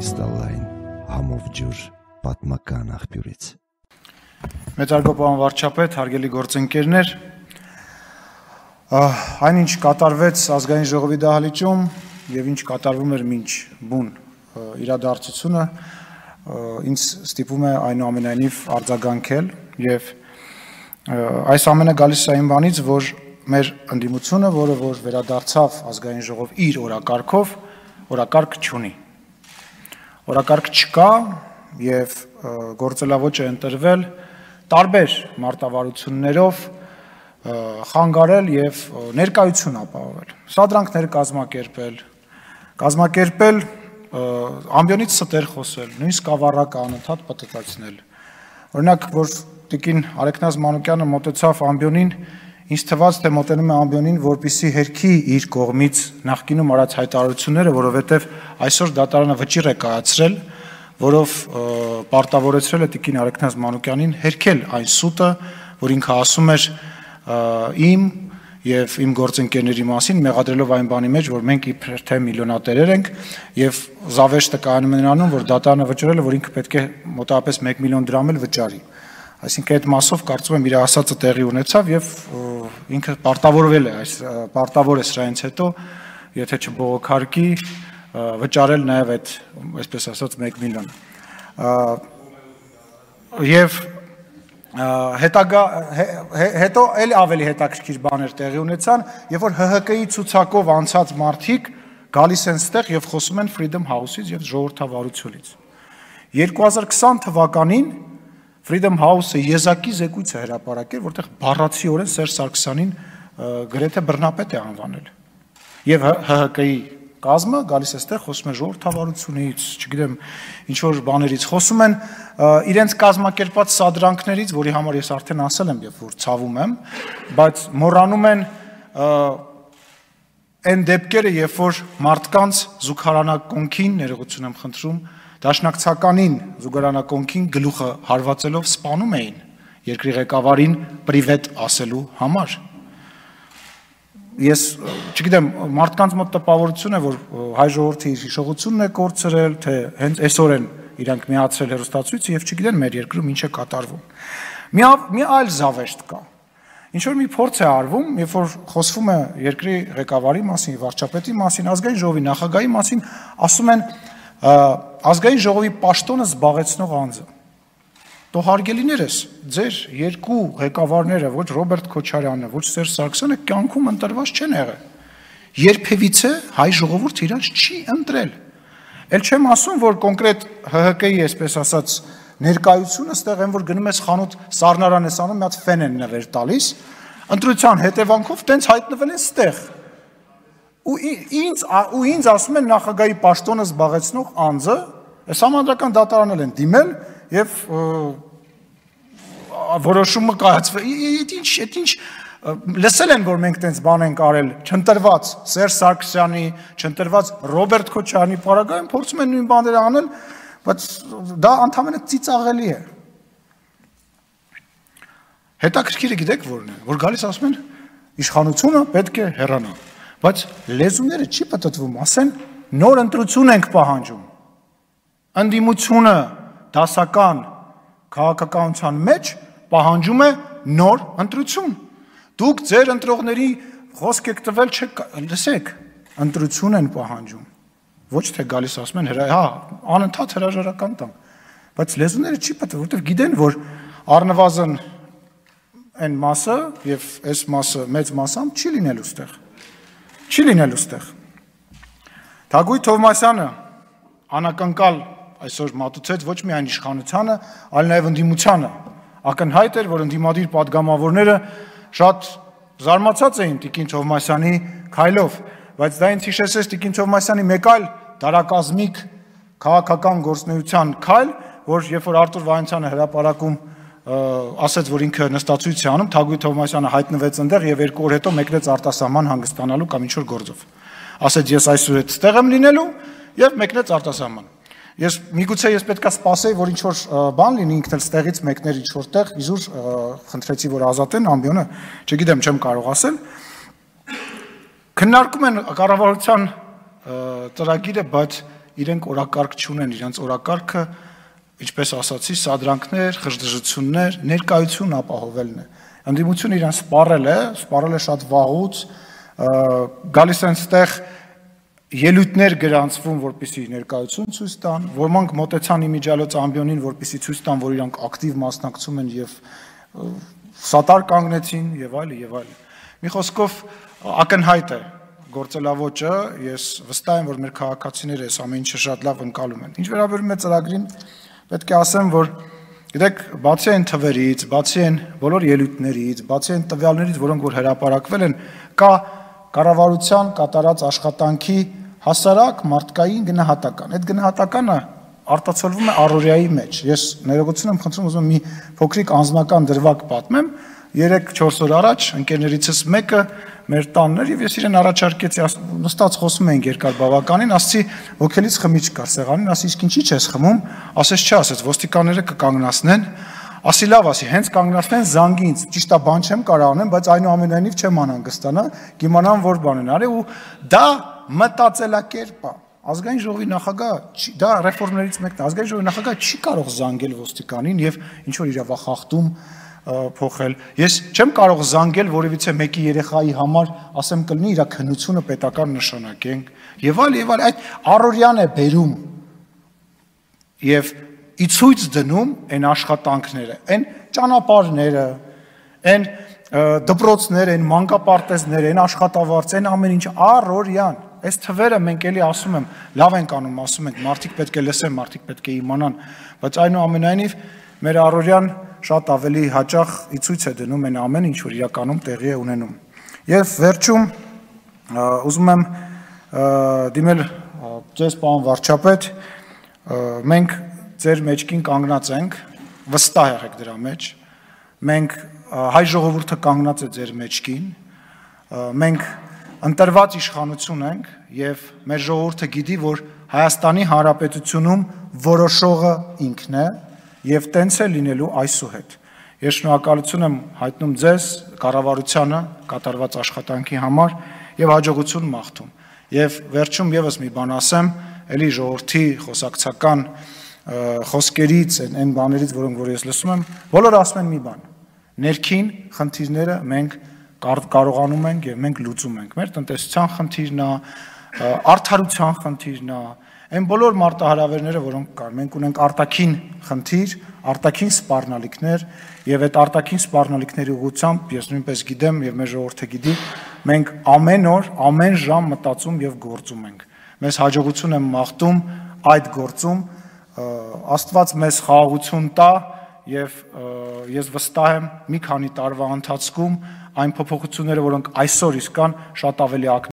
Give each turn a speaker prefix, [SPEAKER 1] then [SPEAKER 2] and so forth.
[SPEAKER 1] կրիստալային համով ջուր պատմական աղբյուրից։
[SPEAKER 2] Մեծարգո պարոն վարչապետ, հարգելի գործընկերներ, այնինչ կատարվեց ազգային ժողովի դահլիճում եւ ինչ կատարվում էր մինչ բուն իրադարձությունը, ինձ ստիպում է այնուամենայնիվ արձագանքել եւ այս ամենը գալիս է այն բանից, որ մեր ընդդիմությունը, որը որ վերադարձավ ազգային ժողով իր օրակարգով, օրակարգ չունի։ Օրակարգ չկա եւ գործելավոճ է ընտրվել տարբեր մարտավարություններով խանգարել եւ ներկայություն ապահովել։ Սադրանքներ կազմակերպել, ամբիոնից ստեր խոսել, նույնիսկ ավառակ անընդհատ պտտացնել։ Օրինակ, որ տիկին Արեգնազ Մանուկյանը մոտեցավ ամբիոնին, ինձ թվաց, թե մոտենում է ամբիոնին, որպեսզի հերքի իր կողմից նախկինում արած հայտարարությունները, որովհետև այսօր դատարանը վճիռ է կայացրել, որով պարտավորեցրել է տիկին Արեգնազ Մանուկյանին հերքել այն սուտը, որ ինքը ասում էր իմ եւ իմ գործընկերների մասին, մեղադրելով այն բանի մեջ, որ մենք իբր թե միլիոնատերեր ենք եւ զավեշտը կայանում է նրանում, որ դատարանը վճռել է, որ ինքը պետք է մոտավորապես 1 միլիոն դրամ էլ վճարի։ Այսինքն այդ մասով կարծում եմ իր ասածը տեղի ունեցավ եւ ինքը պարտավորվել է պարտավոր է սրանից հետո, եթե չբողոքարկի, վճարել նաեւ այդ, այսպես ասած, 1 միլիոն։ Եվ հետո էլ ավելի հետաքրքիր բաներ տեղի ունեցան, երբ որ ՀՀԿ-ի ցուցակով անցած մարդիկ գալիս են ստեղ եւ խոսում են Freedom House-ից եւ ժողովրդավարությունից։ 2020 թվականին Freedom House-ը եզակի զեկույց է հրապարակել, որտեղ բառացիորեն Սերժ Սարգսյանին գրեթե բռնապետ է անվանել։ Եվ ՀՀԿ-ի կազմը գալիս է ստեղ խոսում է ժողովրդավարությունից, չգիտեմ, ինչ որ բաներից խոսում են իրենց կազմակերպած սադրանքներից, որի համար ես արդեն ասել եմ, եւ որ ցավում եմ, բայց մոռանում են այն դեպքերը, երբ որ մարդկանց զուգարանակոնքին, ներողություն եմ խնդրում, դաշնակցականին զուգարանակոնքին գլուխը հարվածելով սպանում էին երկրի ղեկավարին պրիվետ ասելու համար։ Ես չգիտեմ, մարդկանց մոտ տպավորություն է, որ հայ ժողովրդի հիշողությունն է կորցրել, թե հենց այսօր են իրանք միացրել հեռուստացույցը եւ չգիտեն մեր երկրում ինչ է կատարվում։ Մի այլ զավեշտ կա։ Ինչ որ մի փորձ է արվում, երբ որ խոսվում է երկրի ղեկավարի մասին, վարչապետի մասին, ազգային ժողովի նախագահի մասին, ասում են ազգային ժողովի պաշտոնը զբաղեցնող անձը։ Դո հարգելիներս, ձեր երկու ղեկավարները, ոչ Ռոբերտ Քոչարյանը, ոչ Սերժ Սարգսյանը կյանքում ընտրված չեն եղել։ Երբևիցե հայ ժողովուրդը իրանց չի ընտրել։ Էլ չեմ ասում, որ կոնկրետ ՀՀԿ-ի, այսպես ասած, ներկայությունը ստեղ են, որ գնում ես խանութ սառնարան ես անում, մի հատ ֆեն են նվեր տալիս, ընտրության հետևանքով տենց հայտնվել են ստեղ։ Ու ինձ ասում են նախագահի պաշտոնը զբաղեցնող անձը, այս համանդրական դատարանել են դիմել եւ որոշումը կայացվել։ Այդ ինչ լսել են, որ մենք տենց բան ենք արել, չընտրված Սերժ Սարգսյանի, չընտրված Ռոբերտ Քոչարյանի պարագայում փորձում են նույն բաները անել, բայց դա ընդհանրապես ծիծաղելի է։ Հետաքրքիրը գիտեք որն է, որ գալիս ասում են իշխանությունը պետք է հեռանա, բայց լեզուները չի պատտվում, ասեն նոր ընտրություն ենք պահանջում։ Ընդդիմությունը դասական քաղաքականության մեջ պահանջում է նոր ընտրություն։ Դուք ձեր ընտրողների խոսք եք տվել, լսեք, ընտրություն են պահանջում։ Ոչ թե գալիս ասում են, հա, անընդհատ հրաժարական տան։ Բայց լեզուները չի պատտվում, որովհետև գիտեն, որ առնվազն այն մասը եւ այս մասը մեծ մասամբ չի լինելու ստեղ։ Չի լինելու ստեղ։ Թագուհի Թովմասյանը անակնկալ այսօր մատուցեց ոչ միայն իշխանությանը, այլ նաև ընդդիմությանը։ Ակնհայտ էր, որ ընդդիմադիր падգամավորները շատ զարմացած էին Տիկին Թովմասյանի քայլով, բայց դա ինձ հիշեցրեց Տիկին Թովմասյանի մեկ այլ դարակազմիկ քաղաքական գործունեության քայլ, որ երբ որ Արտուր Վահանցյանը հրապարակում ասաց, որ ինքը նստածույց է անում, Թագուհի Թովմասյանը հայտնվեց այնտեղ եւ 2 օր հետո մեկնեց արտասահման հանգստանալու կամ ինչ որ գործով։ Ասաց ես այսօր այդտեղ եմ լինելու եւ մեկնեց արտասահման։ Միգուցե ես պետքա սպասեի, որ ինչ որ բան լինի, ինքն էլ ստեղից մեկներ ինչ որտեղ, իզուր խնդրեցի, որ ազատեն ամբիոնը, չգիտեմ, չեմ կարող ասել։ Քննարկում են կառավարության ծրագիրը, բայց իրենք օրակարգ չունեն, իրենց օրակարգը, ինչպես ասացի, սադրանքներ, խժդժություններ, ներկայություն ապահովելն է։ Ընդդիմությունը իրեն սպառել է շատ վաղուց, գալիս են ստեղ ելույթներ գրանցվում, որպեսզի ներկայություն ցույց տան, ոմանք մոտեցան իմիջիալոց ամբիոնին, որպեսզի ցույց տան, որ իրանք ակտիվ մասնակցում են եւ սատար կանգնեցին եւ այլն։ Մի խոսքով ակնհայտ է գործելավոճը, ես վստահ եմ, որ մեր քաղաքացիները այս ամեն ինչը շատ լավ ընկալում են։ Ինչ վերաբերում է ծրագրին, պետք է ասեմ, որ գիտեք, բացի այն թվերից, բացի այն բոլոր ելույթներից, բացի այն տվյալներից, որոնք որ հրապարակվել են, կա կառավարության կատարած աշխատանքի հասարակ մարդկային գնահատական։ Այդ գնահատականը արտացոլվում է առօրյայի մեջ։ Ես ներողություն եմ խնդրում, ուզում եմ մի փոքրիկ անձնական դրվագ պատմեմ։ 3-4 օր առաջ ընկերներիցս մեկը մեր տանն էր եւ ես իրեն առաջարկեցի, նստած խոսում էինք երկար բավականին, ասացի ոգելից խմիչք կար սեղանին, ասի իսկ ինչի՞ չես խմում, ասես չէ, ասեց ոստիկանները կկանգնացնեն, ասի լավ, ասի հենց կանգնացնեն զանգի ինձ, ճիշտ է, բան չեմ կարող անեմ, բայց այնուամենայնիվ չեմ անհանգստանա, կիմանամ որ բան են արել ու դա մտածելակերպ է։ Ազգային ժողովի նախագահ, դա ռեֆորմներից մեկն է, ազգային ժողովի նախագահ չի կարող զանգել ոստիկանին եւ ինչ որ իրավախախտում փոխել։ Ես չեմ կարող զանգել որևիցե մեկի երեխայի համար, ասեմ կլինի իր քննությունը պետական նշանակենք եւ այլ, այդ առօրյան է բերում եւ ի ցույց դնում այն աշխատանքները, այն ճանապարհները, այն դպրոցները, այն մանկապարտեզները, այն աշխատավարձ, այն ամեն ինչ առօրյան։ Այս թվերը մենք էլի ասում եմ, լավ ենք անում, ասում ենք, մարդիկ պետք է լսեն, մարդիկ պետք է իմանան, բայց այնուամենայնիվ մեր առօրյան շատ ավելի հաճախ ի ցույց է դնում այն ամեն ինչ, որ իրականում տեղի է ունենում։ Եվ վերջում ուզում եմ դիմել ձեզ պարոն վարչապետ, մենք ձեր մեջքին կանգնած ենք, վստահ եղեք դրա մեջ, մենք հայ ժողովուրդը կանգնած է ձեր մեջքին, մենք ընտրված իշխանություն ենք եւ մեր ժողովուրդը գիտի, որ Հայաստանի Հանրապետությունում որոշողը ինքն է եւ տենց է լինելու այսուհետ։ Ես շնորհակալություն եմ հայտնում ձեզ, կառավարությանը կատարված աշխատանքի համար եւ հաջողություն մաղթում։ Եվ վերջում եւս մի բան ասեմ, ելի ժողովրդի խոսակցական խոսքերից, այն բաներից, որոնք որ ես լսում եմ, բոլորը ասում են մի բան. ներքին խնդիրները մենք կարողանում ենք եւ մենք լուծում ենք։ Մեր տնտեսության խնդիրն է, արդարության խնդիրն է, այն բոլոր մարտահրավերները, որոնք կան, մենք ունենք արտաքին խնդիր, արտաքին սպառնալիքներ եւ այդ արտաքին սպառնալիքների ուղղությամբ ես նույնպես գիտեմ եւ մեր ժողովուրդը գիտի, մենք ամեն օր, ամեն ժամ մտածում եւ գործում ենք։ Մեզ հաջողություն եմ մաղթում այդ գործում, Աստված մեզ խաղաղություն տա եւ ես վստահ եմ մի քանի տարվա ընթացքում այն փոփոխությունները, որոնք այսօր իսկ կան, շատ ավելի